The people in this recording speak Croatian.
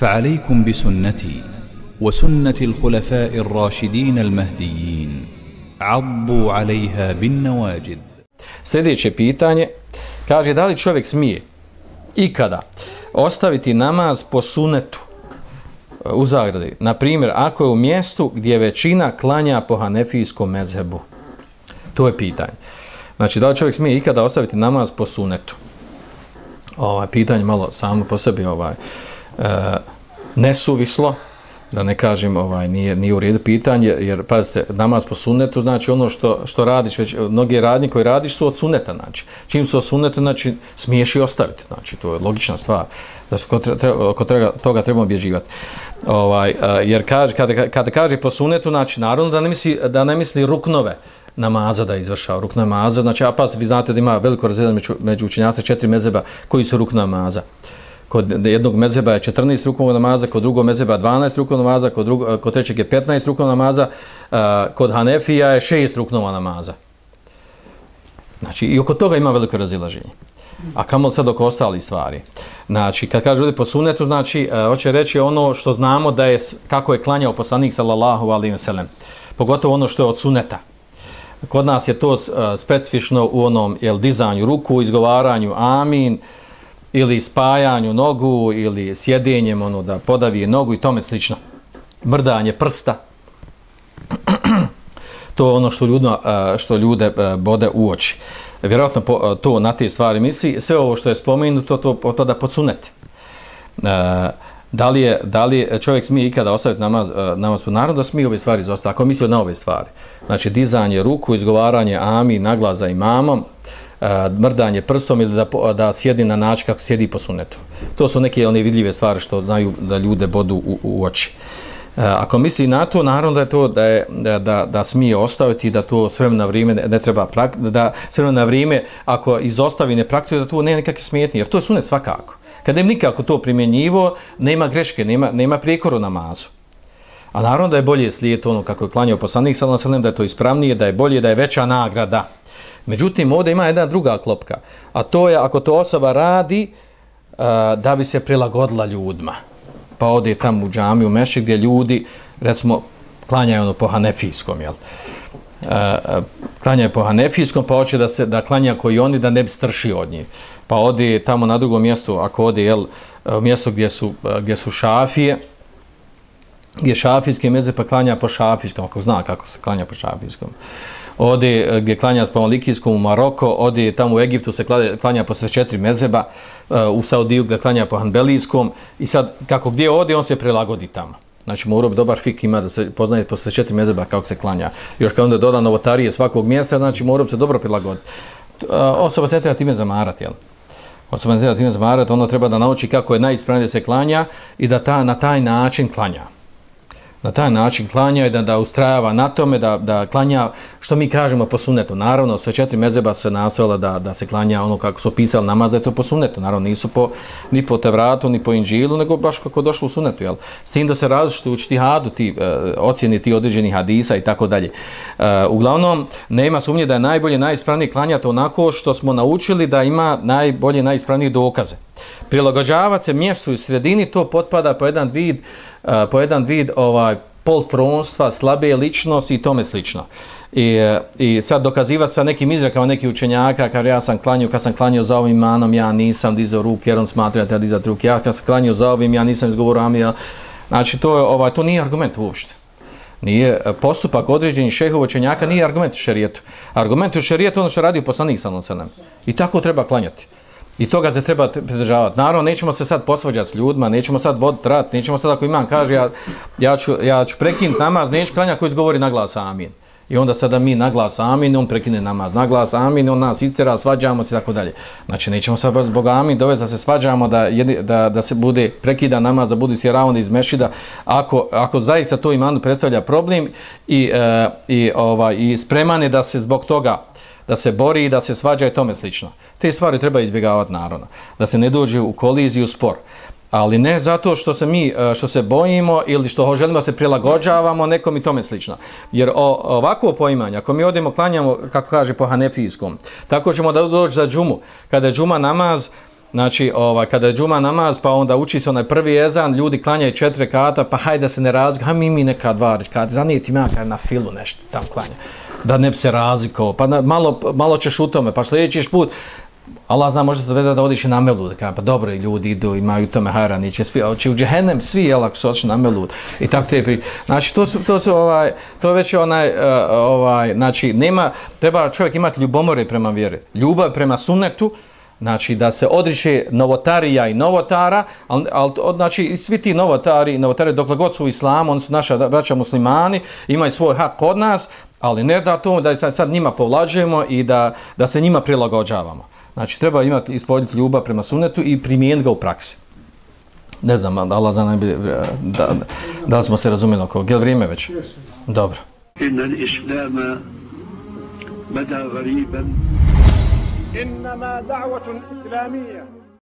فعليكم بسنتي وسنة الخلفاء الراشدين المهديين عضوا عليها بالنواجذ. Sljedeće pitanje kaže da li čovjek smije ikada ostaviti namaz po sunetu u zagradi, na primjer ako je u mjestu gdje većina klanja po hanefijskom mezhebu. To je pitanje. Znači da li čovjek smije ikada ostaviti namaz po sunetu? Pitanje malo samo po sebi nesuvislo, da ne kažem nije u redu pitanje, jer pazite, namaz po sunnetu znači ono što radiš, već mnogi radnji koji radiš su od sunneta, znači čim su od sunneta, znači smiješ i ostaviti, znači to je logična stvar, da se oko toga trebamo obježivati. Jer kada kaže po sunnetu, znači naravno da ne misli ruknove namaza da izvršava, ruk namaza, znači vi znate da ima veliko razredanje među učenjacima 4 mezheba koji su ruk namaza. Kod jednog mezheba je 14 rukova namaza, kod drugog mezheba 12 rukova namaza, kod trećeg je 15 rukova namaza, kod Hanefija je 6 rukova namaza. Znači, i oko toga ima veliko razilaženje. A kamo sad oko ostalih stvari? Znači, kad kaže ovdje po sunnetu, znači, hoće reći ono što znamo da je, kako je klanjao poslanik sallallahu alejhi ve sellem. Pogotovo ono što je od sunneta. Kod nas je to specifično u onom dizanju ruku, izgovaranju amin, ili spajanju nogu, ili sjedenjem, da podavije nogu i tome slično. Mrdanje prsta. To je ono što ljude bode u oči. Vjerojatno to na te stvari misli. Sve ovo što je spomenuto, to potpada pod sunnet. Da li čovjek smije ikada ostaviti namaz? Naravno da smije ove stvari izostaviti, ako misli na ove stvari. Znači, dizanje ruku, izgovaranje amin, naglas za imamom, mrdanje prstom ili da sjedi na način kako sjedi po sunnetu. To su neke one vidljive stvari što znaju da ljude bodu u oči. Ako misli na to, naravno da je to da smije ostaviti, da to s vremena na vrijeme ne treba da s vremena na vrijeme ako izostavi ne praktikuje, da to nema nikakve smetnje, jer to je sunnet svakako. Kad ne nikako to primjenjivo, nema greške, nema prijekora u namazu. A naravno da je bolje slijediti ono kako je klanjao poslanik sallallahu alejhi ve sellem, da je to ispravnije, da je bolje, da je veća nagrada. Međutim, ovdje ima jedna druga klopka, a to je ako to osoba radi da bi se prilagodila ljudima. Pa ode tamo u džamiju, u mešćid gdje ljudi, recimo, klanjaju po hanefijskom, jel? Klanjaju po hanefijskom, pa hoće da klanja koji oni, da ne bi stršio od njih. Pa ode tamo na drugom mjestu, ako ode, mjesto gdje su šafije, gdje šafijski mezheb, pa klanja po šafijskom, ako zna kako se klanja po šafijskom. Ode gdje klanja po malikijskom u Maroko, ode tamo u Egiptu se klanja po sve 4 mezheba, u Saudiju gdje klanja po hanbelijskom, i sad kako gdje ode on se prilagodi tamo. Znači morao bi dobar fik ima da se poznaje po sve 4 mezheba kako se klanja. Još kad onda doda novotarije svakog mjesta, znači morao bi se dobro prilagoditi. Osoba se ne treba time zamarati, jel? Osoba ne treba time zamarati, ono treba da nauči kako je najispravnije da se klanja i da na taj način klanja. Na taj način klanja i da ustrajava na tome, da klanja, što mi kažemo po sunnetu. Naravno, sve 4 mezheba se nastojala da se klanja ono kako su opisali namaz, da je to po sunnetu. Naravno, nisu ni po Tevratu, ni po Inđilu, nego baš kako je došlo u sunnetu. Jel? S tim da se različite u štihadu, ocjeni ti određenih hadisa i tako dalje. Uglavnom, nema sumnje da je najbolje, najispravnije klanjati onako što smo naučili da ima najbolje, najispravnije dokaze. Prilagođavati se mjestu i sredini, to potpada po jedan vid poltronstva, slabe ličnosti i tome slično. I sad dokazivati sa nekim izrekama nekih učenjaka, kaže ja sam klanjao, kad sam klanjao za ovim imanom, ja nisam dizao ruke, jer on smatra da dizati ruke, ja kad sam klanjao za ovim, ja nisam izgovorio amin. Znači to nije argument uopšte. Nije postupak određenih šehova učenjaka, nije argument u šerijetu. Argument u šerijetu ono što radi poslanik sallallahu alejhi ve sellem. I tako treba klanjati. I toga se treba pridržavati. Naravno, nećemo se sad posvađati s ljudima, nećemo sad voditi rat, nećemo sad ako imam kaže ja ću prekinuti namaz, neću klanjati koji izgovori naglas amin. I onda sada mi naglas amin, on prekine namaz, naglas amin, on nas istjera, svađamo se i tako dalje. Znači, nećemo sad zbog amin dovesti da se svađamo, da se bude prekida namaz, da bude sjeravan iz mešida, ako zaista to imanu predstavlja problem i spreman je da se zbog toga da se bori i da se svađa i tome slično. Te stvari treba izbjegavati naravno, da se ne dođe u koliziju, spor. Ali ne zato što se bojimo ili što želimo da se prilagođavamo nekom i tome slično. Jer ovako poimanje, ako mi odemo klanjamo, kako kaže po hanefijskom, tako ćemo da doći za džumu. Kada je džuma namaz, znači kada je džuma namaz, pa onda uči se onaj prvi ezan, ljudi klanjaju 4 rekata, pa hajde da se ne razlikuju, hajde mi neka 2 rekata, zanijeti makar na filu nešto tam klanja, da ne bi se razlikovao, pa malo ćeš u tome, pa sljedeći put, Allah zna, možda to vede da odiš i na melud, pa dobro, ljudi idu, imaju tome hajrani, će u džehennem svi, ako su otišli na melud, i tako te pri... Znači, to je već znači, treba čovjek imati ljubomore prema vjeri, ljubav prema sunnetu, znači da se odriče novotarija i novotara, znači svi ti novotari dokle god su u islamu, oni su naša braća muslimani, imaju svoj hak kod nas, ali ne da to da sad njima povlađujemo i da se njima prilagođavamo. Znači treba ispoljiti ljubav prema sunnetu i primijeniti ga u praksi. Ne znam, Allah zna najbolje da li smo se razumjeli oko ovoga. Je li vrijeme već? Dobro. Inna l-islama bada gariban إنما دعوة إسلامية